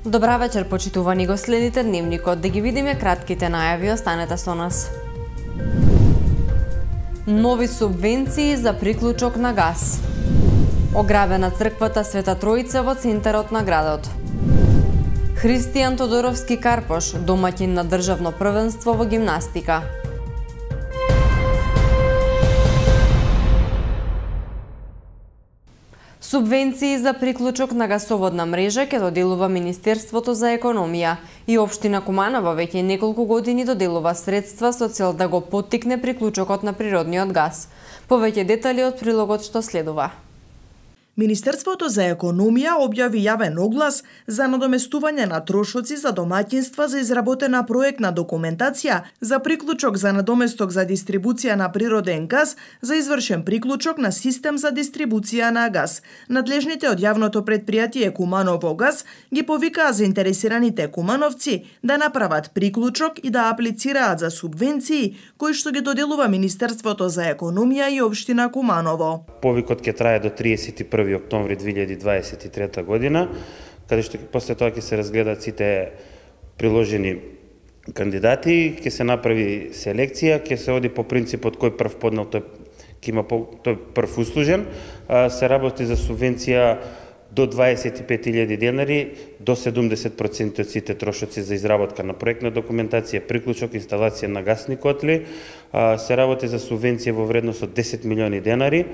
Добра вечер, почитувани го следите дневникот, да ги видиме кратките најави, останете со нас. Нови субвенции за приклучок на газ. Ограбена црквата Света Троица во центарот на градот. Христијан Тодоровски Карпош, домаќин на државно првенство во гимнастика. Субвенции за приклучок на гасоводна мрежа ќе доделува Министерството за економија и општина Куманово веќе неколку години доделува средства со цел да го поттикне приклучокот на природниот газ. Повеќе детали од прилогот што следува. Министерството за економија објави јавен оглас за надоместување на трошоци за домаќинства за изработена проектна документација за приклучок за надоместок за дистрибуција на природен газ за извршен приклучок на систем за дистрибуција на газ. Надлежните од јавното претпријатие Куманово газ ги повикаа заинтересираните кумановци да направат приклучок и да аплицираат за субвенции кои што ги доделува Министерството за економија и општина Куманово. Повикот ќе трае до 31 октомври 2023 година, каде што после тоа ќе се разгледаат сите приложени кандидати, ќе се направи селекција, ќе се оди по принципот кој прв поднел тој ќе има тој прв услужен, се работи за субвенција до 25.000 денари, до 70% од сите трошоци за изработка на проектна документација, приклучок, инсталација на гасни котли, се работи за субвенција во вредност од 10 милиони денари.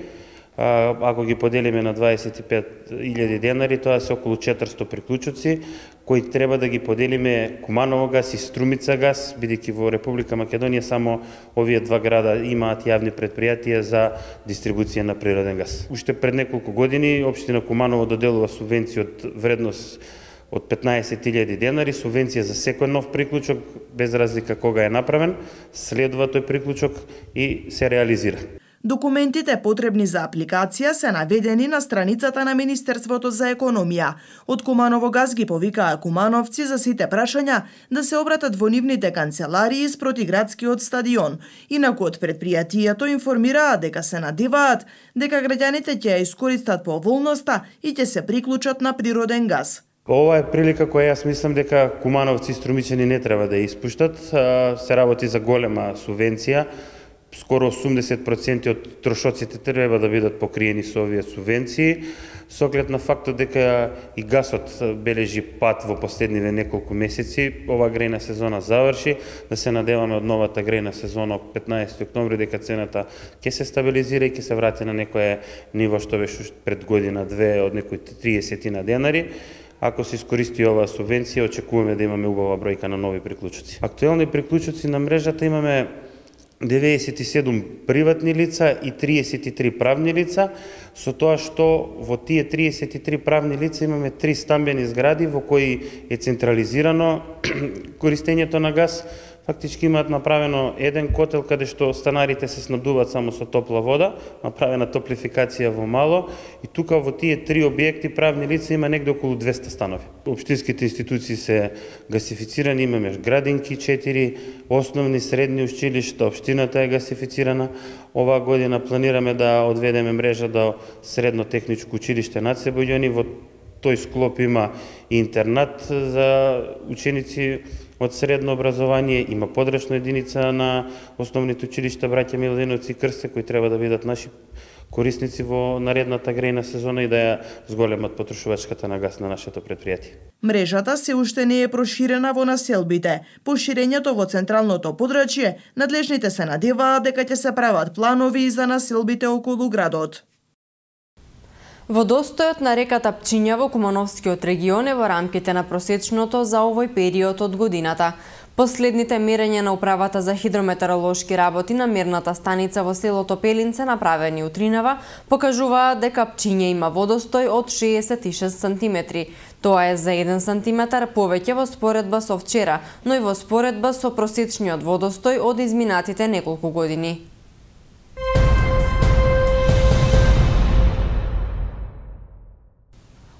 Ако ги поделиме на 25.000 денари, тоа се околу 400 приклучоци, кои треба да ги поделиме Куманово газ и Струмица газ, бидејќи во Република Македонија само овие два града имаат јавни претпријатија за дистрибуција на природен газ. Уште пред неколку години општина Куманово доделува субвенција од вредност од 15.000 денари, субвенција за секој нов приклучок, без разлика кога е направен, следува тој приклучок и се реализира. Документите потребни за апликација се наведени на страницата на Министерството за економија. Од Куманово газ ги повикаа кумановци за сите прашања да се обратат во нивните канцеларии спроти градскиот стадион. Инаку од претпријатието информираа дека се надеваат дека граѓаните ќе ја искористат поволноста и ќе се приклучат на природен газ. Ова е прилика која јас мислам дека кумановци и струмичани не треба да ја испуштат. Се работи за голема субвенција. Скоро 80% од трошоците треба да бидат покриени со овие субвенции, со оглед на фактот дека и гасот бележи пат во последниве неколку месеци. Ова грејна сезона заврши, да се надеваме од новата грејна сезона од 15 октомври дека цената ќе се стабилизира и ќе се врати на некое ниво што беше пред година-две од некои 30 денари. Ако се искористи оваа субвенција, очекуваме да имаме убава бројка на нови приклучоци. Актуелни приклучоци на мрежата имаме 97 приватни лица и 33 правни лица, со тоа што во тие 33 правни лица имаме 3 стамбени згради во кои е централизирано користењето на газ. Фактички имаат направено еден котел каде што станарите се снабдуваат само со топла вода, направена топлификација во мало, и тука во тие 3 објекти правни лица има негде околу 200 станови. Општинските институции се гасифицирани, имаме градинки 4, основни средни училишта, општината е гасифицирана. Оваа година планираме да одведеме мрежа до средно техничко училиште Наце Бојони. Во тој склоп има и интернат за ученици од средно образование, има подрачна единица на основните училишта Браќа Милодиновци и Крсте, кои треба да бидат наши корисници во наредната грејна сезона и да ја зголемат потрошувачката на газ на нашето претпријатие. Мрежата се уште не е проширена во населбите. По ширењето во централното подрачје, надлежните се надеваат дека ќе се прават планови и за населбите околу градот. Водостојот на реката Пчиња во Кумановскиот регион е во рамките на просечното за овој период од годината. Последните мерења на Управата за хидрометеоролошки работи на мерната станица во селото Пелинце, направени утринава, покажуваат дека Пчиња има водостој од 66 см. Тоа е за 1 сантиметар повеќе во споредба со вчера, но и во споредба со просечниот водостој од изминатите неколку години.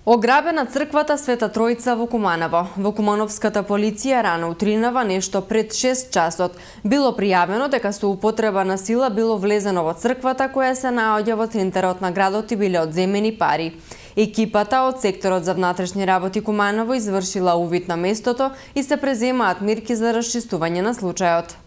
Ограбена црквата Света Тројца во Куманово. Во кумановската полиција рано утринава нешто пред 6 часот било пријавено дека со употреба на сила било влезено во црквата која се наоѓа во центарот на градот и биле одземени пари. Екипата од секторот за внатрешни работи Куманово извршила увид на местото и се преземаат мерки за расчистување на случајот.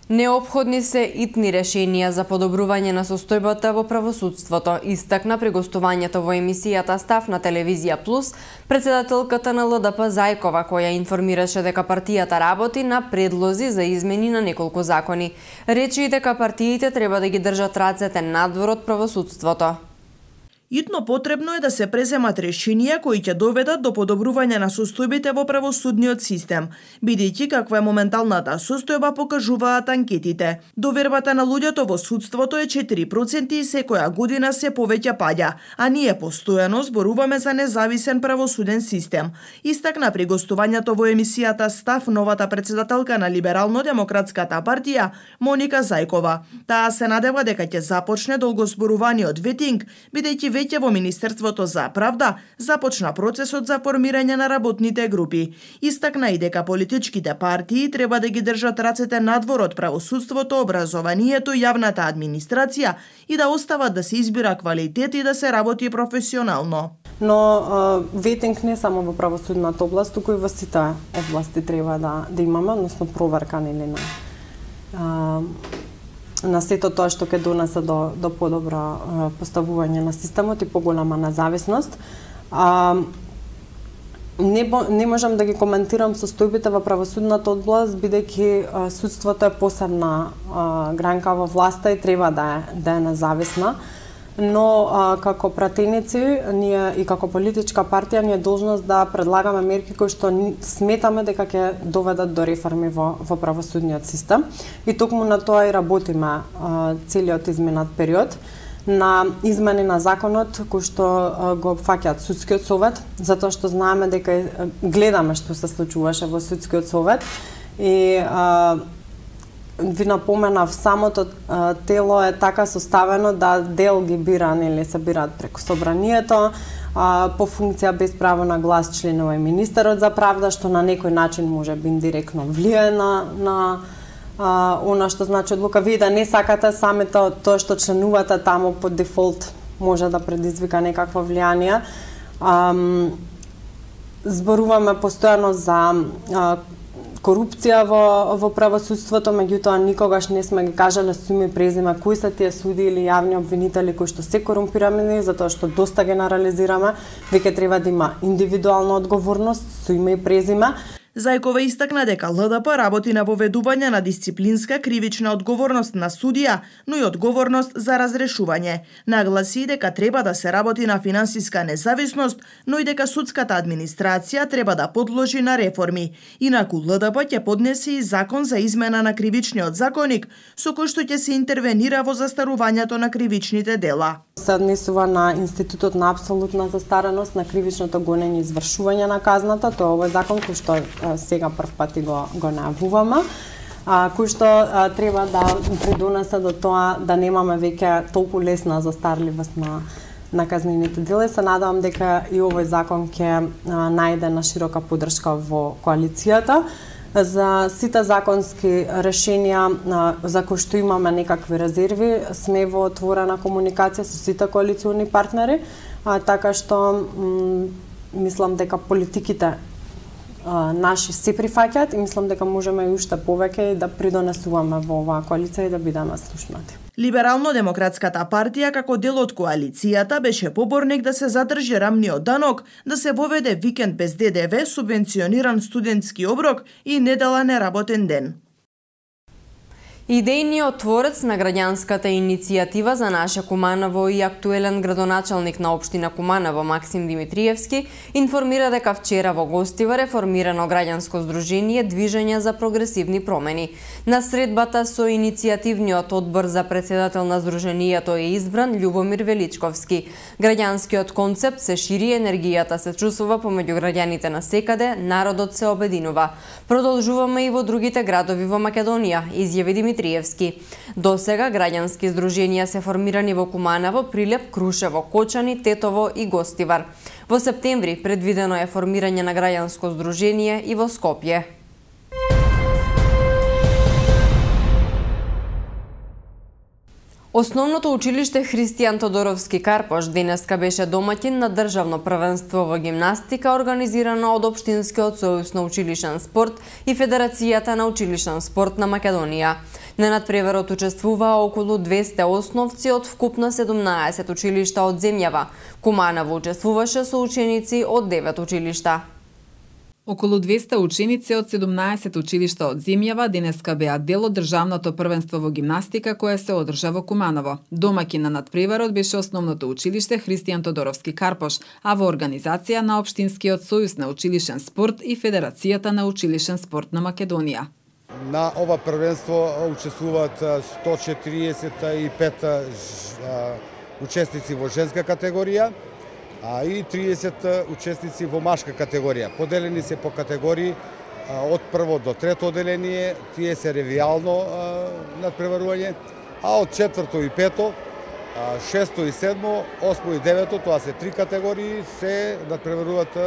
Неопходни се итни решенија за подобрување на состојбата во правосудството, истакна при гостувањето во емисијата Став на Телевизија Плюс председателката на ЛДП Зајкова, која информираше дека партијата работи на предлози за измени на неколку закони. Речи и дека партиите треба да ги држат рацете надвор од правосудството. Итно потребно е да се преземат решенија кои ќе доведат до подобрување на состојбите во правосудниот систем, бидејќи каква е моменталната состојба покажуваат анкетите. Довербата на луѓето во судството е 4% и секоја година се повеќе паѓа, а ние постојано зборуваме за независен правосуден систем. Истакна при гостувањето во емисијата Став новата председателка на Либерално-демократската партија Моника Зајкова. Таа се надева дека ќе започне долгозборуваниот ветинг, бидејќи веќе во Министерството за правда започна процесот за формирање на работните групи. Истакна и дека политичките партии треба да ги држат рацете надвор од правосудството, образованието и јавната администрација и да остават да се избира квалитет и да се работи професионално. Но ветинг не само во правосудната област, туку и во сите области треба да имаме, односно проверка нели на сето тоа што ќе донесе до подобро поставување на системот и поголема независност. Не можам да ги коментирам состојбите во правосудната област, бидејќи судството е посебна гранка во власта и треба да е независна. Но како пратеници ние и како политичка партија ние должност да предлагаме мерки кои што сметаме дека ќе доведат до реформи во правосудниот систем и токму на тоа и работиме целиот изминат период на измени на законот кои што го фаќаат судскиот совет, затоа што знаеме дека гледаме што се случуваше во судскиот совет и ви напоменав, самото тело е така составено да дел ги бира, нели се бираат преку собранието, по функција без право на глас членува и министерот за правда, што на некој начин може би индиректно влијае на она што значи одлука. Вие да не сакате самото тоа што членувате таму по дефолт може да предизвика некакво влијание. Зборуваме постојано за корупција во правосудството, меѓутоа никогаш не сме ги кажале со име и презиме кои се тие суди или јавни обвинители кои што се корумпирани, затоа што доста генерализираме, веќе треба да има индивидуална одговорност со име и презиме. Зајкова истакна дека ЛДП работи на воведување на дисциплинска кривична одговорност на судија, но и одговорност за разрешување. Нагласи дека треба да се работи на финансиска независност, но и дека судската администрација треба да подложи на реформи. Инаку ЛДП ќе поднесе и закон за измена на кривичниот законник, со кој што ќе се интервенира во застарувањето на кривичните дела. Се однесува на институтот на апсолутна застареност на кривичното гонење и извршување на казната. Тоа е овој закон кој што сега прв пат го најавуваме, кој што треба да придонесе до тоа да немаме веќе толку лесна застарливост на казнените дела и се надевам дека и овој закон ќе најде на широка поддршка во коалицијата. За сите законски решенија за кои што имаме некакви резерви, сме во отворена комуникација со сите коалициони партнери, така што мислам дека политиките наши се прифаќаат и мислам дека можеме и уште повеќе да придонесуваме во оваа коалиција и да бидеме слушнати. Либерално-демократската партија како дел од коалицијата беше поборник да се задржи рамниот данок, да се воведе викенд без ДДВ, субвенциониран студентски оброк и недела неработен ден. Идејниот творец на граѓанската иницијатива за наше Куманово и актуелен градоначалник на општина Куманово Максим Димитриевски информира дека вчера во гостива реформирано граѓанско здружение Движење за прогресивни промени. На средбата со иницијативниот одбор за председател на здруженијето е избран Љубомир Величковски. Граѓанскиот концепт се шири, енергијата се чувствува помеѓу граѓаните на секаде, народот се обединува. Продолжуваме и во другите градови во Македонија, изјави Димитриевски. Димитриевски. Досега граѓански здруженија се формирани во Куманово, Прилеп, Крушево, Кочани, Тетово и Гостивар. Во септември предвидено е формирање на граѓанско здружение и во Скопје. Основното училиште Христијан Тодоровски Карпош денеска беше домаќин на државно првенство во гимнастика организирано од Општинскиот сојуз на училишен спорт и Федерацијата на училишен спорт на Македонија. На надпреварот учествуваа околу 200 основци од вкупно 17 училишта од земјава. Куманово учествуваше со ученици од 9 училишта. Околу 200 ученици од 17 училишта од земјава денеска беа дел од државното првенство во гимнастика кое се одржа во Куманово. Домаќин на надпреварот беше основното училиште Христијан Тодоровски Карпош, а во организација на Општинскиот сојуз на училишен спорт и Федерацијата на училишен спорт на Македонија. На ова првенство учествуваат 145 учесници во женска категорија, и 30 учесници во машка категорија. Поделени се по категории од прво до трето одделение, тие се ревијално надпреварување, а од четврто и пето, шесто и седмо, осмо и девето, тоа се 3 категории, се надпреваруваат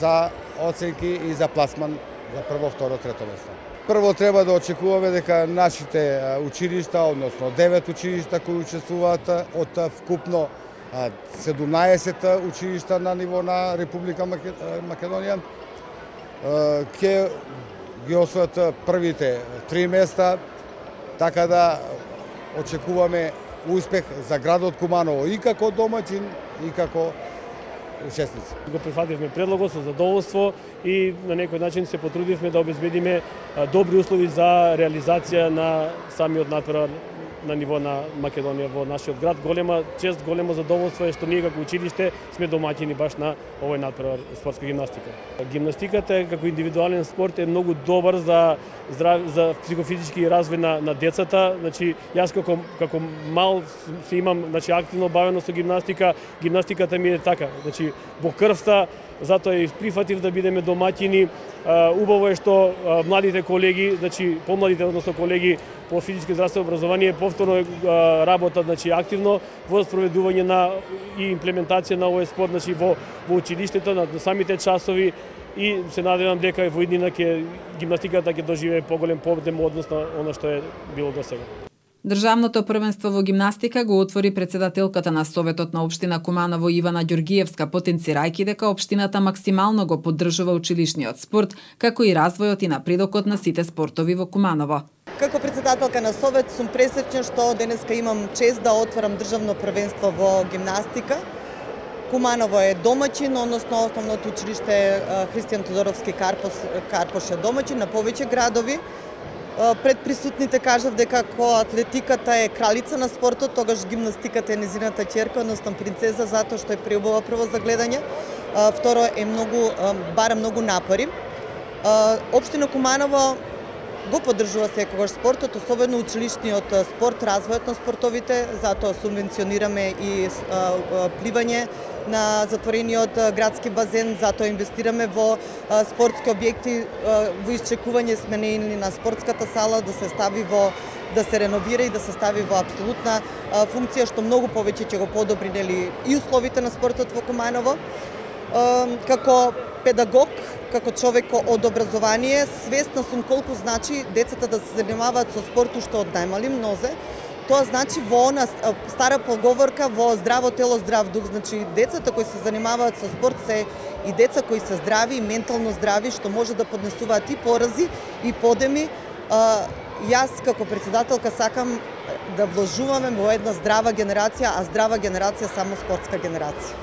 за оценки и за пласман за прво, второ, трето место. Прво треба да очекуваме дека нашите училишта, односно 9 училишта кои учествуваат од вкупно 17 училишта на ниво на Република Македонија, ќе ги освојат првите 3 места, така да очекуваме успех за градот Куманово и како домаќин и како учесници. Го прифативме предлогот со задоволство и на некој начин се потрудивме да обезбедиме добри услови за реализација на самиот надпревар на ниво на Македонија во нашиот град. Голема чест, големо задоволство е што ние како училиште сме домаќини баш на овој надпревар спортска гимнастика. Гимнастиката како индивидуален спорт е многу добар за психофизички развој на децата. Значи јас како мал се имам активно бавено со гимнастика. Гимнастиката ми е така, значи во крвта, затоа и прифатив да бидеме домаќини. Убаво е што младите колеги, значи помладите, односно колеги по физичко и здравствено образование повторно работат активно во спроведување на и имплементација на овој спорт во училиштето, на самите часови, и се надевам дека во иднина гимнастиката ќе доживее поголем подем односно она што е било досега. Државното првенство во гимнастика го отвори претседателката на Советот на општина Куманово Ивана Ѓоргиевска, потенцирајќи дека општината максимално го поддржува училишниот спорт, како и развојот и напредокот на сите спортови во Куманово. Како претседателка на Совет сум пресреќна што денеска имам чест да отворам државно првенство во гимнастика. Куманово е домаќин, односно основното училиште Христијан Тодоровски Карпош е домаќин на повеќе градови. Пред присутните кажав дека кога атлетиката е кралица на спортот, тогаш гимнастиката е незината ќерка, односно принцеза, затоа што е преубава прво за гледање. Второ е бара многу напори. Општина Куманово го поддржува секогаш спортот, особено училишниот спорт, развојот на спортовите, затоа субвенционираме и пливање на затворениот градски базен, затоа инвестираме во спортски објекти, во исчекување сменени на спортската сала да се реновира и да се стави во апсолутна функција, што многу повеќе ќе го подобри и условите на спортот во Куманово. Како педагог, како човек од образование, свесна сум колку значи децата да се занимаваат со спорт уште од најмали нозе. Тоа значи во она стара поговорка во здраво тело, здрав дух. Значи децата кои се занимаваат со спорт се и деца кои се здрави и ментално здрави, што може да поднесуваат и порази и подеми. Јас како претседателка сакам да вложуваме во една здрава генерација, а здрава генерација само спортска генерација.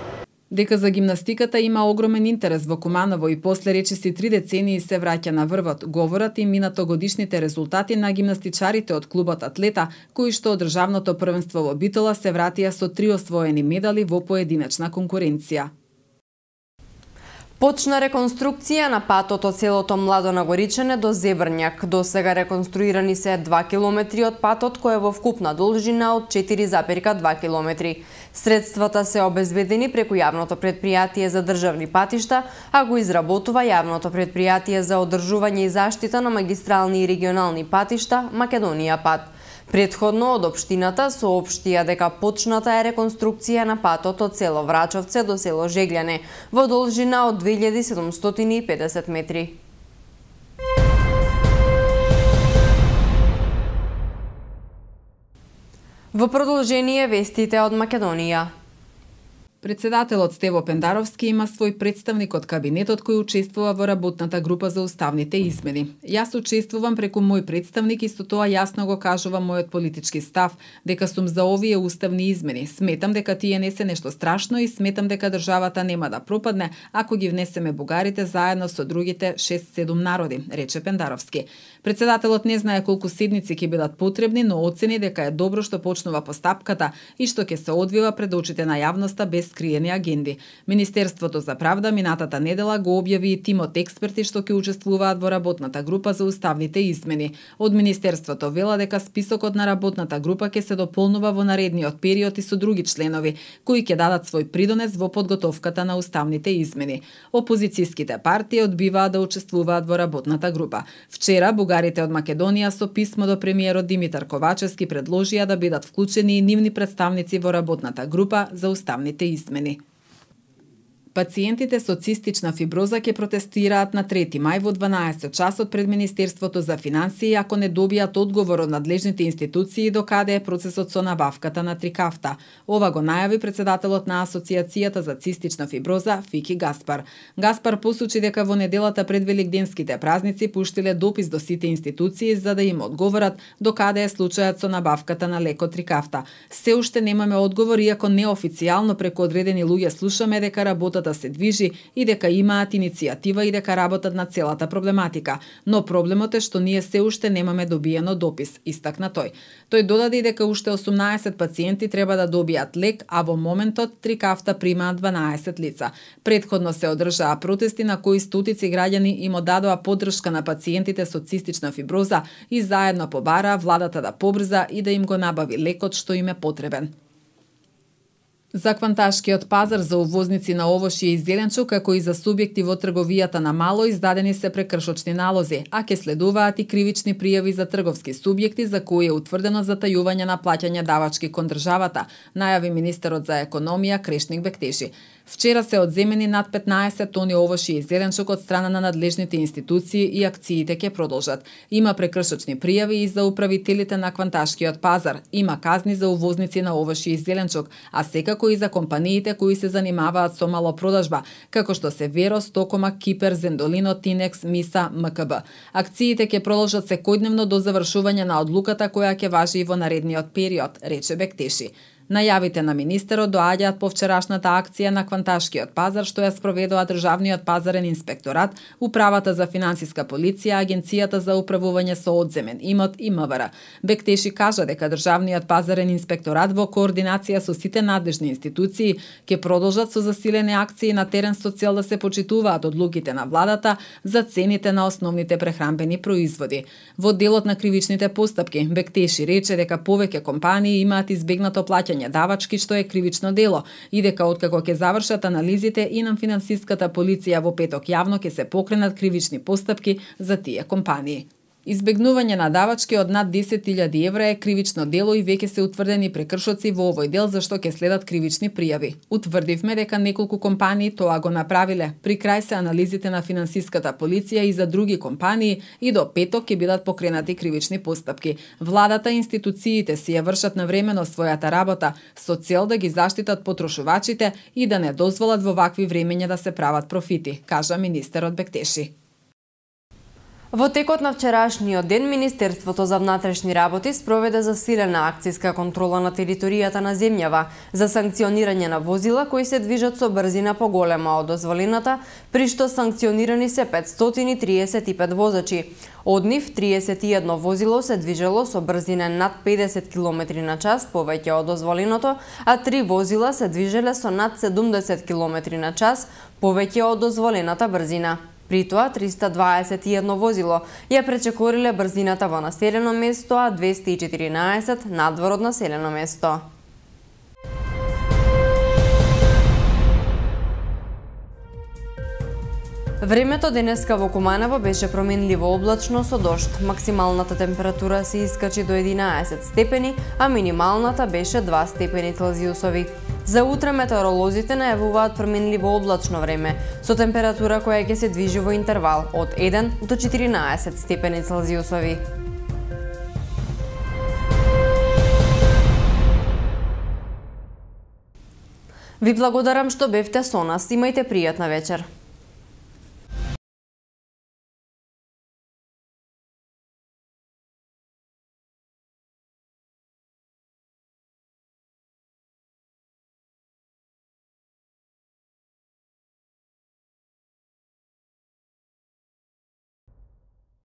Дека за гимнастиката има огромен интерес во Куманово и после речиси 3 децении се враќа на врвот, говорат и минатогодишните резултати на гимнастичарите од клубот Атлета, кои што од државното првенство во Битола се вратија со 3 освоени медали во поединечна конкуренција. Почна реконструкција на патот од селото Младо на Горичане до Зебрњак. До сега реконструирани се 2 километри од патот кој е во вкупна должина од 4,2 километри. Средствата се обезбедени преку јавното претпријатие за државни патишта, а го изработува јавното претпријатие за одржување и заштита на магистрални и регионални патишта Македонија пат. Предходно од општината соопштија дека почната е реконструкција на патот од село Врачовце до село Жегляне во должина од 2750 метри. Во продолжение вестите од Македонија. Председателот Стево Пендаровски има свој представник од кабинетот кој учествува во работната група за уставните измени. Јас учествувам преку мој представник и со тоа јасно го кажувам мојот политички став дека сум за овие уставни измени. Сметам дека тие не се нешто страшно и сметам дека државата нема да пропадне ако ги внесеме бугарите заедно со другите 6-7 народи, рече Пендаровски. Председателот не знае колку седници ќе бидат потребни, но оцени дека е добро што почнува постапката и што ќе се одвива пред очите на јавноста без скриени агенди. Министерството за правда минатата недела го објави и тимот експерти што ќе учествуваат во работната група за уставните измени. Од Министерството вела дека списокот на работната група ќе се дополнува во наредниот период и со други членови, кои ќе дадат свој придонес во подготовката на уставните измени. Опозицијските партии одбиваат да учествуваат во работната група. Вчера бугарите од Македонија со писмо до премиерот Димитар Ковачевски предложија да бидат вклучени и нивни представници во работната група за уставните измени. Пациентите со цистична фиброза ќе протестираат на 3 мај во 12 часот пред Министерството за финансии ако не добијат одговор од надлежните институции до каде е процесот со набавката на Трикафта. Ова го најави председателот на Асоциацијата за цистична фиброза Фики Гаспар. Гаспар посочи дека во неделата пред великденските празници пуштиле допис до сите институции за да им одговорат до каде е случајот со набавката на лекот Трикафта. Се уште немаме одговор, иако неофицијално преку одредени луѓе слушаме дека работата се движи и дека имаат иницијатива и дека работат на целата проблематика, но проблемот е што ние се уште немаме добиено допис, истакна тој. Тој додаде дека уште 18 пациенти треба да добијат лек, а во моментот Трикафта примаат 12 лица. Предходно се одржаа протести на кои стотици граѓани им одадоа поддршка на пациентите со цистична фиброза и заедно побараа владата да побрза и да им го набави лекот што им е потребен. За кванташкиот пазар за увозници на овошје и зеленчук, како и за субјекти во трговијата на мало, издадени се прекршочни налози, а ќе следуваат и кривични пријави за трговски субјекти за кои е утврдено затајување на плаќање давачки кон државата, најави министерот за економија Крешник Бектеши. Вчера се одземени над 15 тони овошје и зеленчук од страна на надлежните институции и акциите ќе продолжат. Има прекршочни пријави и за управителите на кванташкиот пазар. Има казни за увозници на овошје и зеленчук, а секако и за компаниите кои се занимаваат со малопродажба, како што се Верос, Токомак, Кипер, Зендолино, Тинекс, Миса, МКБ. Акциите ќе продолжат секојдневно до завршување на одлуката која ќе важи и во наредниот период, рече Бектеши. Најавите на министерот доаѓаат по вчерашната акција на кванташкиот пазар што ја спроведува Државниот пазарен инспекторат, Управата за финансиска полиција, Агенцијата за управување со одземен имот и МВР. Бектеши кажа дека Државниот пазарен инспекторат во координација со сите надлежни институции ќе продолжат со засилени акции на терен со цел да се почитуваат одлуките на владата за цените на основните прехранбени производи. Во делот на кривичните постапки, Бектеши рече дека повеќе компании имаат избегнато плаќање давачки што е кривично дело и дека откако ќе завршат анализите и на финансиската полиција во петок јавно ќе се покренат кривични постапки за тие компании. Избегнување на давачки од над 10.000 евра е кривично дело и веќе се утврдени прекршоци во овој дел за што ќе следат кривични пријави. Утврдивме дека неколку компании тоа го направиле. При крај се анализите на финансиската полиција и за други компании и до петок ќе бидат покренати кривични постапки. Владата и институциите си ја вршат навремено својата работа со цел да ги заштитат потрошувачите и да не дозволат во вакви времења да се прават профити, кажа министерот Бектеши. Во текот на вчерашниот ден, Министерството за внатрешни работи спроведе засилена акцијска контрола на територијата на земјава за санкционирање на возила кои се движат со брзина поголема од дозволената, при што санкционирани се 535 возачи. Од нив 31 возило се движело со брзина над 50 км на час повеќе од дозволеното, а 3 возила се движеле со над 70 км на час повеќе од дозволената брзина. При тоа 321 возило ја пречекориле брзината во населено место, а 214 надвор од населено место. Времето денеска во Куманово беше променливо облачно со дожд. Максималната температура се искачи до 11 степени, а минималната беше 2 степени Целзиусови. За утре метеоролозите најавуваат променливо облачно време, со температура која ќе се движи во интервал од 1 до 14 степени Целзиусови. Ви благодарам што бевте со нас. Имајте пријатна вечер.